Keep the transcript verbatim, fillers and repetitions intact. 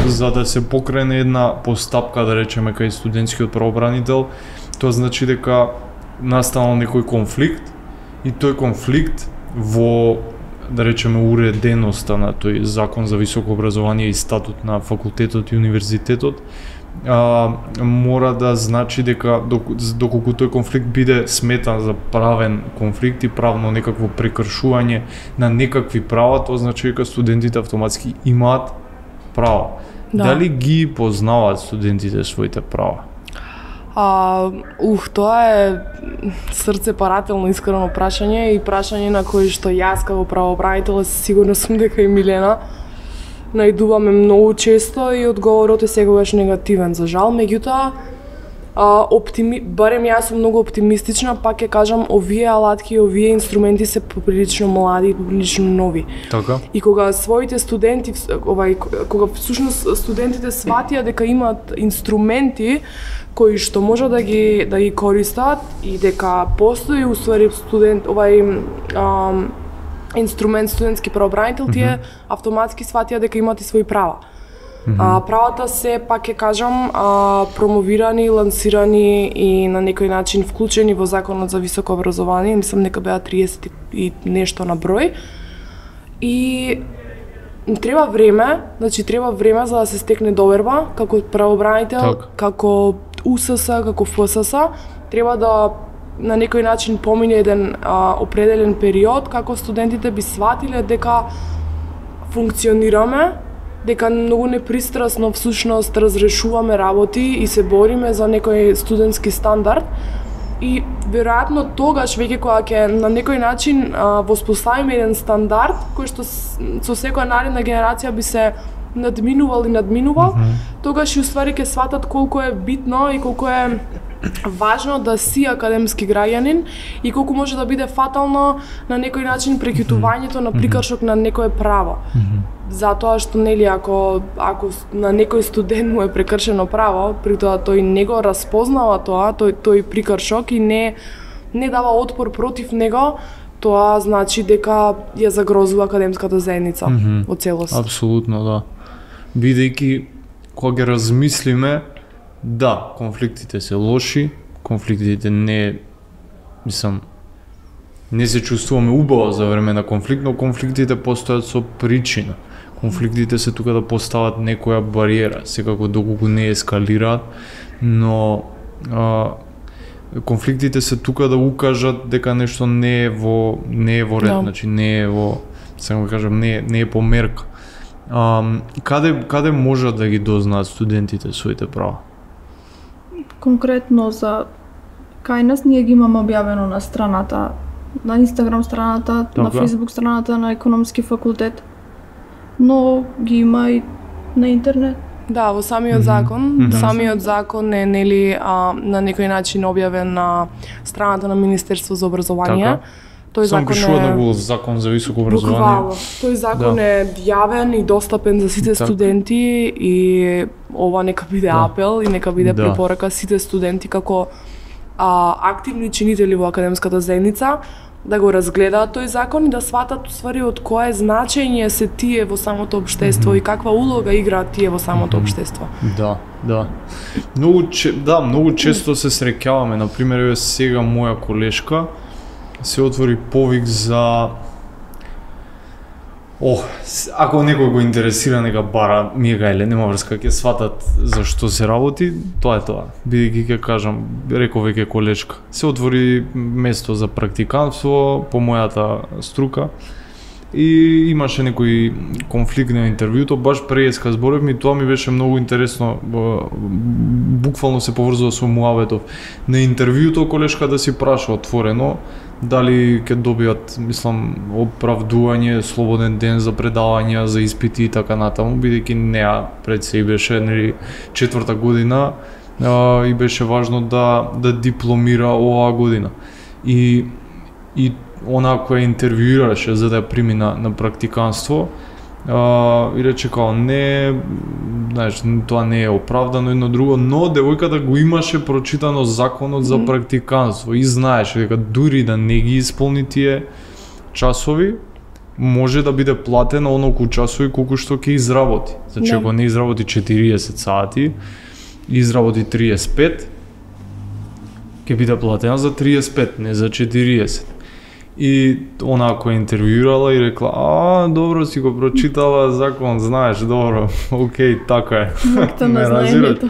за да се покрене една постапка, да речеме, кај студентскиот правобранител, тоа значи дека настанал некој конфликт и тој конфликт во, да речеме, уреденоста на тој закон за високо образование и статут на факултетот и универзитетот, а, мора да значи дека доколку тој конфликт биде сметан за правен конфликт и правно некакво прекршување на некакви права, тоа значи дека студентите автоматски имаат права. Да. Дали ги познаваат студентите своите права? А, ух, тоа е срцепарателно искрено прашање и прашање на кое што јас како правобранител сигурно сум дека и Милена најдуваме многу често и одговорот е секогаш негативен, за жал. Меѓутоа, а, оптими... барем јас сум многу оптимистична, пак ќе кажам, овие алатки и овие инструменти се поприлично млади и поприлично нови. Така. И кога своите студенти, овај, кога всушност студентите сватија дека имаат инструменти кои што може да ги да ги користат и дека постои уствари студент овај ам, инструмент студентски правобранител, тие mm -hmm. автоматски сватија дека имаат и своји права. Mm -hmm. А, правата се, пак ќе кажам, а, промовирани, лансирани и на некој начин вклучени во Законот за високо образование, мислам дека беа триесет и нешто на број. И треба време, значи треба време за да се стекне доверба како правобранител, так. како У С С, како Ф С С, треба да на некој начин помине еден а, определен период како студентите би сватиле дека функционираме, дека многу непристрасно всушност разрешуваме работи и се бориме за некој студентски стандард. И веројатно тогаш веќе кога ќе на некој начин а, воспоставиме еден стандард кој што со секоја наредна генерација би се надминувал и надминувал, mm -hmm. тогаш и уствари ќе сватат колку е битно и колку е важно да си академски граѓанин и колку може да биде фатално на некој начин прекјутувањето на прикршок на некое право. Mm -hmm. Затоа што нели ако ако на некој студент му е прекршено право, при тоа тој не го распознава тоа, тој тој прикршок и не не дава отпор против него, тоа значи дека ја загрозува академската заедница mm -hmm. во целост. Апсолутно, да. Бидејќи кога ги размислиме, да, конфликтите се лоши, конфликтите не, мислам, не се чувствуваме убаво за време на конфликт, но конфликтите постојат со причина. Конфликтите се тука да постават некоја бариера, секако доколку не ескалираат, но а, конфликтите се тука да укажат дека нешто не е во не е во ред, no. Значи не е во, само да кажам, не е, не е по мерка. А, каде каде можат да ги дознаат студентите своите права? Конкретно за кај нас ние ги имаме објавено на страната, на Инстаграм страната, така. На Фейсбук страната на економски факултет, но ги има и на интернет. Да, во самиот закон, mm -hmm. самиот закон е нели а, на некој начин објавен на страната на Министерство за образование. Така. Тој Сам закон е на закон за високо образование. Буквално. Тој закон да. Е јавен и достапен за сите так. Студенти и ова нека биде да. Апел и нека биде да. Препорака сите студенти како а, активни чинители во академската заедница да го разгледаат тој закон и да сватат усвари од кое значење се тие во самото општество mm -hmm. и каква улога играат тие во самото mm -hmm. општество. Да, да. Многу че, да, многу често се среќаваме, на пример, еве сега моја колешка се отвори повик за Ох, ако некој го интересира, нека бара, ми е гајле, нема врска, ќе сватат за што се работи, тоа е тоа. Бидејќи ќе кажам, реков веќе колешка, се отвори место за практикантство по мојата струка и имаше некој конфликт на интервјуто, баш преска зборевме и тоа ми беше многу интересно, буквално се поврзува со муабетов. На интервјуто колешка да си праша отворено, дали ќе добијат, мислам, оправдување, слободен ден за предавања, за испити и така натаму, бидејќи неа пред се и беше нели четврта година а, и беше важно да да дипломира оваа година. И и она која интервјуираше за да ја прими на, на практиканство, а, и рече као не, знаеш, тоа не е оправдано едно друго, но девојката го имаше прочитано законот за практиканство и знаеше дека дури да не ги исполни тие часови, може да биде платена онолку часови колку што ќе изработи. Значи Да. ако не изработи четириесет сати, изработи триесет и пет, ќе биде платена за триесет и пет, не за четириесет. И она која интервјуирала и рекла, а, добро си го прочитала закон, знаеш, добро, окей, така е. Акта на Ме разбираш? знаењето.